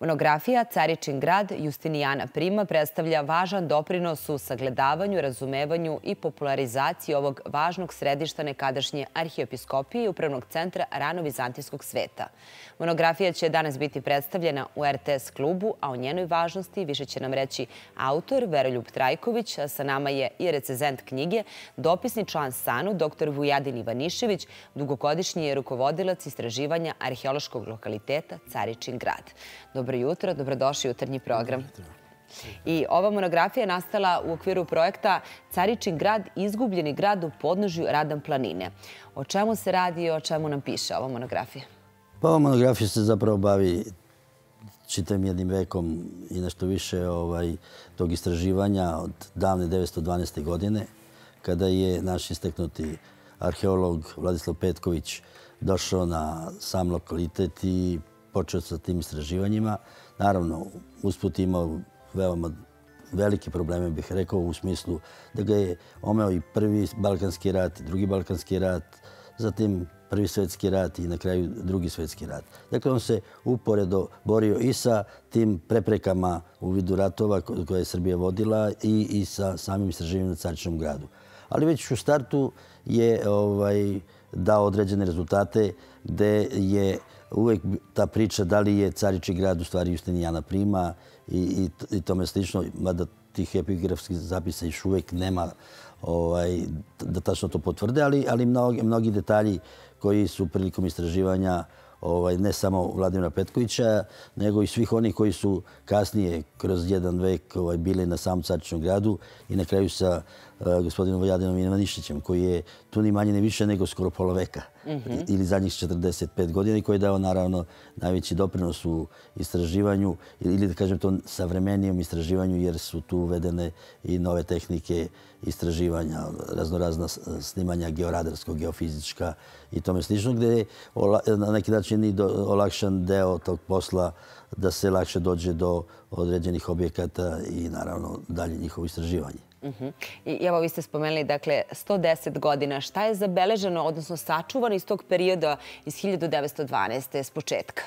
Monografija Caričin grad Justinijana Prima predstavlja važan doprinos u sagledavanju, razumevanju i popularizaciji ovog važnog središta nekadašnje arhiepiskopije i upravnog centra rano-vizantijskog sveta. Monografija će danas biti predstavljena u RTS klubu, a o njenoj važnosti više će nam reći autor Veroljub Trajković, a sa nama je i recenzent knjige, dopisni član SANU, dr. Vujadin Ivanišević, dugogodišnji je rukovodilac istraživanja arheološkog lokaliteta Caričin grad. Dobro jutro, dobrodošli u jutarnji program. I ova monografija je nastala u okviru projekta Caričin grad, izgubljeni grad u podnožju Radan planine. O čemu se radi i o čemu nam piše ova monografija? Pa ova monografija se zapravo bavi čitavim jednim vekom i nešto više tog istraživanja od davne 1912. godine, kada je naš istaknuti arheolog Vladislav Petković došao na sam lokalitet i počeo sa tim istraživanjima. Naravno, usput imao veoma velike probleme, bih rekao, u smislu da ga je omeo i prvi Balkanski rat, i drugi Balkanski rat, zatim prvi svjetski rat i na kraju drugi svjetski rat. Dakle, on se uporedo borio i sa tim preprekama u vidu ratova koje je Srbija vodila i sa samim istraživanjem na Caričinom gradu. Ali već u startu je dao određene rezultate gde je uvek ta priča da li je Caričin grad u stvari Justinijana Prima i tome slično, mada tih epigrafskih zapisa još uvek nema da tačno to potvrde, ali mnogi detalji koji su prilikom istraživanja ne samo Vladimira Petkovića, nego i svih onih koji su kasnije kroz jedan vek bili na samom Caričinom gradu i na kraju sa gospodinom Vujadinom Ivaniševićem, koji je tu ni manje ni više nego skoro pola veka ili zadnjih 45 godina i koji je dao naravno najveći doprinos u istraživanju ili da kažem to savremenijem istraživanju, jer su tu uvedene i nove tehnike istraživanja, raznorazna snimanja georadarskog, geofizička i tome slično, gde je na neki način i olakšan deo tog posla da se lakše dođe do određenih objekata i naravno dalje njihovo istraživanje. I evo, vi ste spomenuli, dakle, 110 godina. Šta je zabeleženo, odnosno sačuvano iz tog perioda iz 1912. s početka?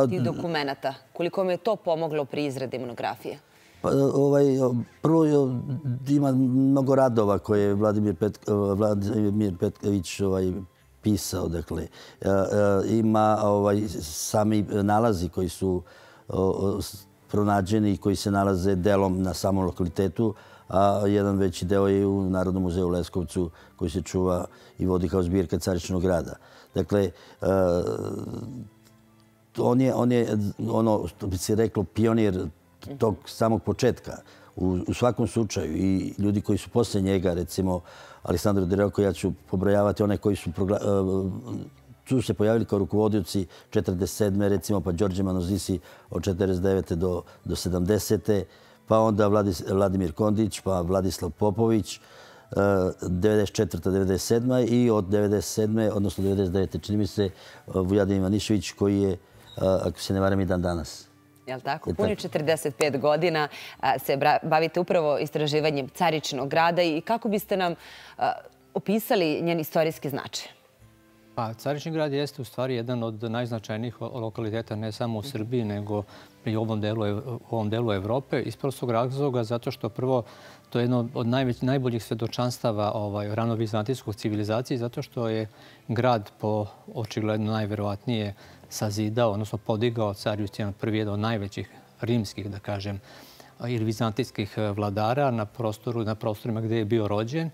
Tih dokumenta. Koliko vam je to pomoglo pri izradi monografije? Prvo ima mnogo radova koje je Vladimir Petković pisao. Ima sami nalazi koji su pronađeni i koji se nalaze delom na samom lokalitetu, a jedan veći deo je u Narodnom muzeju u Leskovcu koji se čuva i vodi kao zbirka Caričinog grada. Dakle, on je, ono što bi se reklo, pionir tog samog početka. U svakom slučaju i ljudi koji su posle njega, recimo Aleksandar Dereko, ja ću pobrojavati one koji su se pojavili kao rukovodioci 1947. recimo, pa Đorđe Manozisi od 1949. do 1970. Pa onda Vladimir Kondić, pa Vladislav Popović, 1994. 1997. i od 1997. odnosno 1999. čini mi se Vujadin Ivanišević, koji je, ako se ne varam, i dan danas. Jel' tako? Puni 45 godina se bavite upravo istraživanjem Caričinog grada i kako biste nam opisali njen istorijski značaj? Pa, Caričin grad jeste u stvari jedan od najznačajnijih lokaliteta ne samo u Srbiji, nego i u ovom delu Evrope. Iz prostog razloga zato što prvo to je jedno od najboljih svedočanstava rano-vizantijskog civilizacije, zato što je grad po očigledno najverovatnije sazidao, odnosno podigao car Justinijan I, jedan od najvećih rimskih, da kažem, ili vizantijskih vladara na prostorima gdje je bio rođen.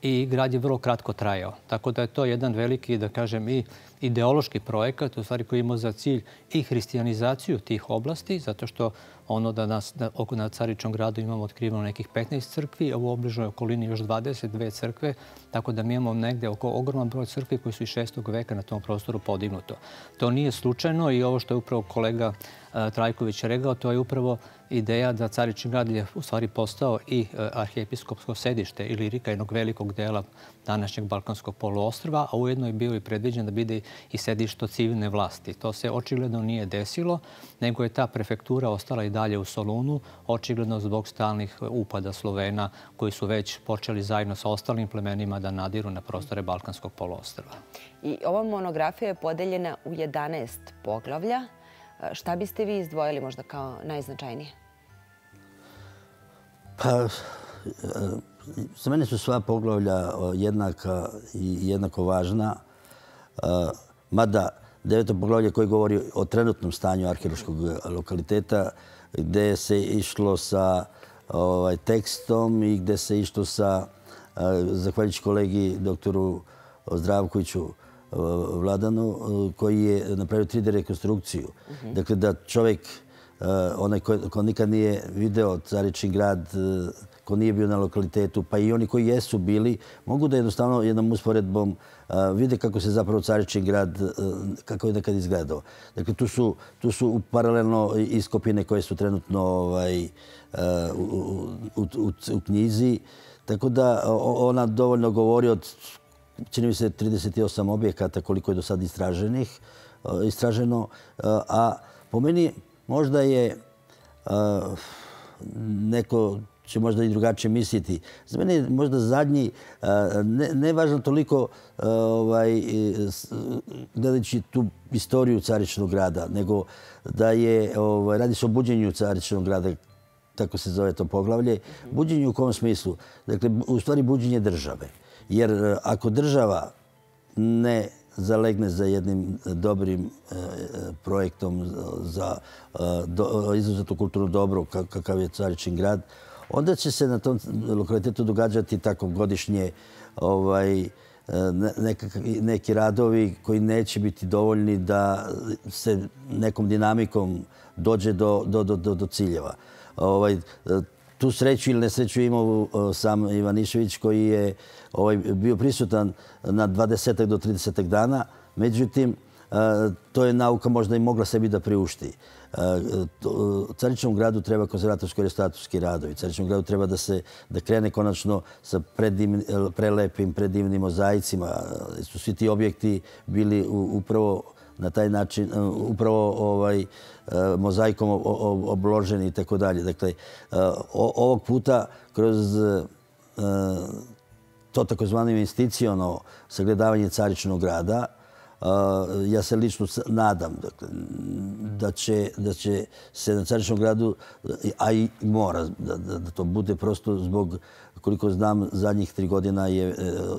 I grad je vrlo kratko trajao. Tako da je to jedan veliki, da kažem, i ideološki projekat, u stvari koji ima za cilj i hrišćanizaciju tih oblasti, zato što ono da na Caričinom gradu imamo otkriveno nekih 15 crkvi, a u obližnoj okolini još 22 crkve, tako da mi imamo negde oko ogroman broj crkvi koji su iz 6. veka na tom prostoru podignuto. To nije slučajno i ovo što je upravo kolega Trajković rekao, to je upravo ideja da Caričin grad je u stvari postao i arhiepiskopsko sedište Ilirika, jednog velikog dela današnjeg Balkanskog poluostrva, a ujedno je bio i predviđen da bude i sedište civilne vlasti. To se očigledno nije desilo, nego je ta prefektura ostala i dalje u Solunu, očigledno zbog stalnih upada Slovena koji su već počeli zajedno sa ostalim plemenima da nadiru na prostore Balkanskog poluostrva. I ova monografija je podeljena u 11 poglavlja. Šta biste vi izdvojili možda kao najznačajnije? Pa, za mene su sva poglavlja jednaka i jednako važna, mada 9. poglavlje koje govori o trenutnom stanju arheološkog lokaliteta, gde se išlo sa tekstom i gde se išlo sa, zahvaljujući kolegi doktoru Zdravkoviću Vladanu, koji je napravio 3D rekonstrukciju. Dakle, da čovjek, onaj ko nikad nije video Caričin grad, ko nije bio na lokalitetu, pa i oni koji jesu bili, mogu da jednostavno jednom usporedbom vide kako se zapravo Caričin grad, kako je nekad izgledao. Dakle, tu su paralelno iskopine koje su trenutno u knjizi. Tako da ona dovoljno govori od, čini mi se, 38 objekata koliko je do sad istraženo. A po meni možda je, neko će možda i drugačije misliti, za mene je možda zadnji, ne važno toliko gledajući tu istoriju Caričnog grada, nego da je, radi se o buđenju Caričnog grada, tako se zove to poglavlje. Buđenju u kom smislu? Dakle, u stvari buđenje države. Jer ako država ne zalegne za jednim dobrim projektom za izuzetno kulturno dobro kakav je Caričin grad, onda će se na tom lokalitetu događati tako godišnje neki radovi koji neće biti dovoljni da se nekom dinamikom dođe do ciljeva. Tu sreću ili nesreću imao sam Ivanišević koji je bio prisutan na 20 do 30 dana. Međutim, to je nauka možda i mogla sebi da priušti. Caričnom gradu treba konzervatorsko-restauratorski radovi. Caričnom gradu treba da krene konačno sa prelepim, predivnim mozaicima. Su svi ti objekti bili upravo na taj način, upravo mozaikom obloženi i tako dalje. Dakle, ovog puta kroz to takozvano investiciono sagledavanje Caričnog grada, ja se lično nadam da će se na Caričnom gradu, a i mora da to bude prosto zbog, koliko znam, zadnjih 3 godina je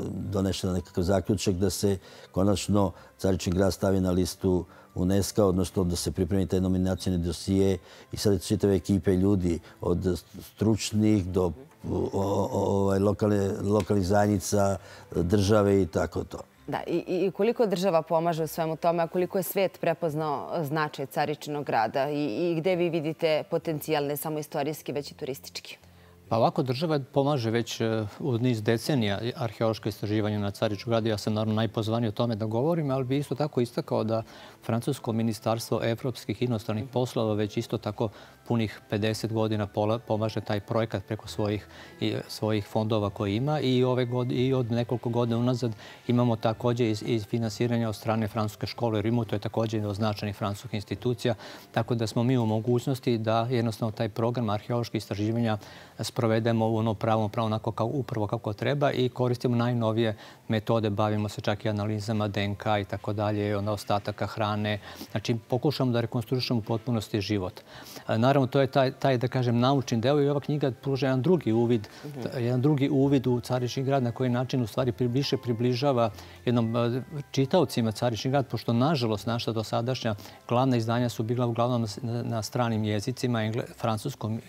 donešen nekakav zaključak da se konačno Caričin grad stavi na listu UNESCO, odnosno da se pripremi taj nominacijni dosije i sad čitave ekipe ljudi od stručnih do lokalnih zajednica, države i tako to. Da, i koliko država pomaže u svemu tome, a koliko je svijet prepoznao značaj Caričinog grada i gde vi vidite potencijal ne samo istorijski, već i turistički? Pa ovako, država pomaže već u niz decenija arheološko istraživanje na Caričnom gradu. Ja sam naravno najpozvaniji o tome da govorim, ali bi isto tako istakao da Francusko ministarstvo evropskih inostranih poslova već isto tako punih 50 godina pomaže taj projekat preko svojih fondova koje ima i od nekoliko godina unazad imamo također i finansiranje od strane Francuske škole u Rimu, to je također od značajnih francuskih institucija, tako da smo mi u mogućnosti da jednostavno taj program arheoloških istraživanja sprovedemo u ono pravom onako upravo kako treba i koristimo najnovije metode, bavimo se čak i analizama DNK i tako dalje, ostataka hrane. Znači, pokušamo da rekonstruišemo u potpunosti život. Naravno, to je taj, da kažem, naučni deo i ova knjiga pruža jedan drugi uvid u Caričin grad, na koji način u stvari više približava jednom čitaocima Caričin grad, pošto nažalost naša dosadašnja glavna izdanja su bila uglavnom na stranim jezicima, francuskom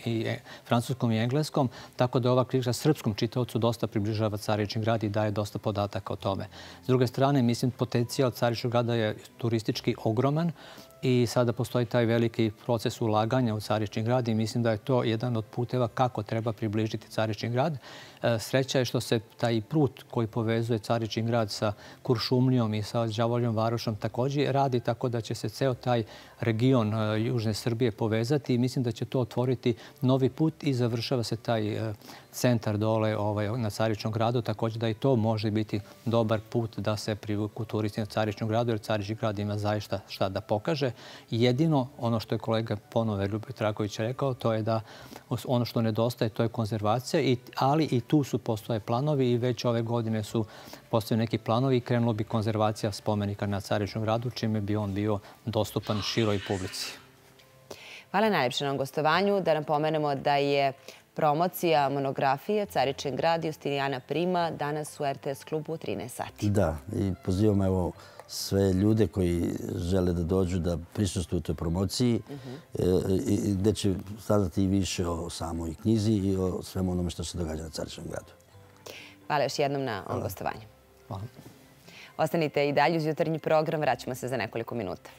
i engleskom, tako da ova knjiga srpskom čitaocu dosta približava Caričin grad i daje dosta podataka o tome. S druge strane, mislim, potencijal Caričnog grada je turistički ogroman i sada postoji taj veliki proces ulaganja u Caričin grad i mislim da je to jedan od puteva kako treba približiti Caričin grad. Sreća je što se taj put koji povezuje Caričin grad sa Kuršumlijom i sa Đavoljom Varošom također radi, tako da će se ceo taj region Južne Srbije povezati i mislim da će to otvoriti novi put i završava se taj centar dole na Caričnom gradu, također da i to može biti dobar put da se privuku turisti na Caričnom gradu, jer Caričin grad ima zaista šta da pokaže. tiče. Jedino ono što je kolega ponovo Ljubomir Traković rekao, to je da ono što nedostaje, to je konzervacija, ali i tu postoje planovi i već ove godine su postoje neki planovi i krenulo bi konzervacija spomenika na Caričnom gradu, čime bi on bio dostupan široj publici. Hvala najljepše na gostovanju. Da napomenemo da je promocija monografije Caričin grad Justinijana Prima danas u RTS klubu u 13 sati. Da, i pozivam evo sve ljude koji žele da dođu da prisustvuju toj promociji, gde će saznati i više o samoj knjizi i o svemu onome što se događa na Caričnom gradu. Hvala još jednom na gostovanju. Hvala. Ostanite i dalje uz jutarnji program, vraćamo se za nekoliko minuta.